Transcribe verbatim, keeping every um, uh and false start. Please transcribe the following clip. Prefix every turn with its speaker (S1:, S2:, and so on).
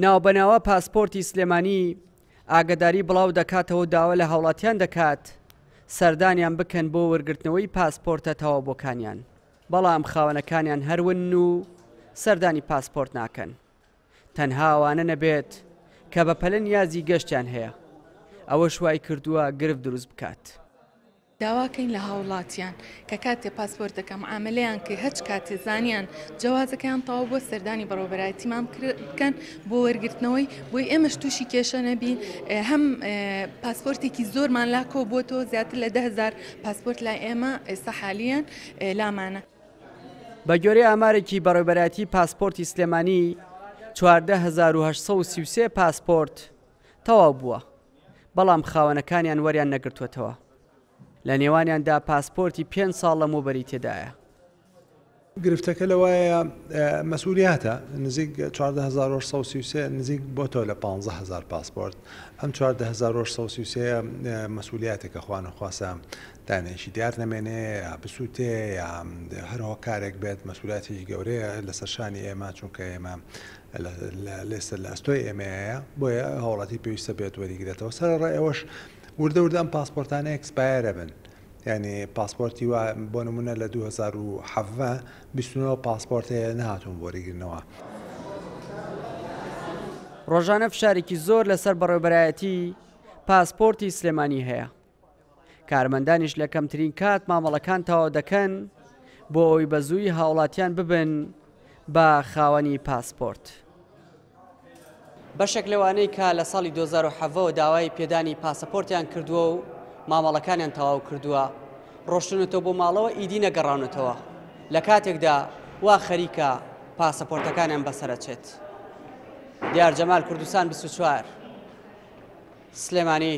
S1: ناوبەناوە پاسپۆرتی سلێمانی ئاگداری بڵاو دەکاتەوە، داوا لە هاوڵاتیان دەکات سەردانیان بکەن بۆ وەرگرتنەوەی پاسپۆرتە تەواوبووەکانیان، بەڵام خاوەنەکانیان هەرون و سەردانی پاسپۆرت ناکەن، تەنها ئەوانە نەبێت کە بە پەلە نیازی گەشتیان هەیە. ئەوەش وای کردووە گرفت دروست بکات.
S2: داواکەین لە هاوڵاتیان کە کاتێ پاسپۆرتەکە معاملەیان کرد، هەچ کاتێ زانیان جەوازەکەیان تەواو بۆ سەردانی بەڕێوەبەرایەتیمان بکەن بۆ وەرگرتنەوەی، بۆی ئێمەش تووشی کێشە نەبین. هەم پاسپۆرتێکی زۆرمان لا کۆ بۆتەوە، زیاتر لە ده هەزار پاسپۆرت لای ئێمە ئێستا حالیان لامانە.
S1: بە گوێرەی ئامارێکی بەڕێوەبەرایەتی پاسپۆرتی سلێمانی چواردە هەزار و هەشت سەد و سی و سێ پاسپۆرت تەواو بووە، بەڵام خاوەنەکانیان وەریان نەگرتووەتەوە. لە نێوانیاندا پاسپۆرتی پێنج ساڵ لەمەوبەری تێدایە.
S3: گرفتەکە لەوایە مەسئولیاتە، نزیک چواردە هەزار و هەشت سەد و سی و سێ نزیک بۆتەوە لە پانزە هەزار پاسپۆرت. ئەم چواردە هەزار و هەشت سەد و سی و سێ مەسئولیاتێکە خوانەخواسە دانێکی دیار نەمێنێ یا بسووتێ یا هەر هۆکارێک بێت، مەسئولیاتێکی گەورەیە لەسەر شانی ئێمە، چونکە ئێمە لێسەر لە ئەستۆی ئێمەیە، بۆیە هاوڵاتی پێویستە بێت وەریگرێتەوە. سەرەڕای ئەوەش وردە وردە ئەم پاسپۆرتانە expire بن، یعنی پاسپۆرتی وا بۆ نمونە لە دوو هەزار و حەڤدە بیست و نۆ پاسپۆرت هەیە نەهاتوون بۆ وەریگرنەوە.
S1: ڕۆژانە فشارێکی زۆر لەسەر بەڕێوەبەرایەتی پاسپۆرتی سلێمانی هەیە. کارمەندانیش لە کەمترین کات مامەڵەکان تەواو دەکەن بۆ ئەوەی بە زووی هاوڵاتیان ببن بە خاوەنی پاسپۆرت. بەشێک لەوانەی کە لە ساڵی دوو هەزار و حەڤدەوە داوای پێدانی پاسەپۆرتیان کردووە و مامەڵەکانیان تەواو کردووە، ڕۆشتنەتەوە بۆ ماڵەوە ئیدی نەگەڕاونەتەوە، لە کاتێکدا وا خەریکە پاسەپۆرتەکانیان بەسەرەچێت. دیار جەمال، کوردستان بیست و چوار، سلێمانی.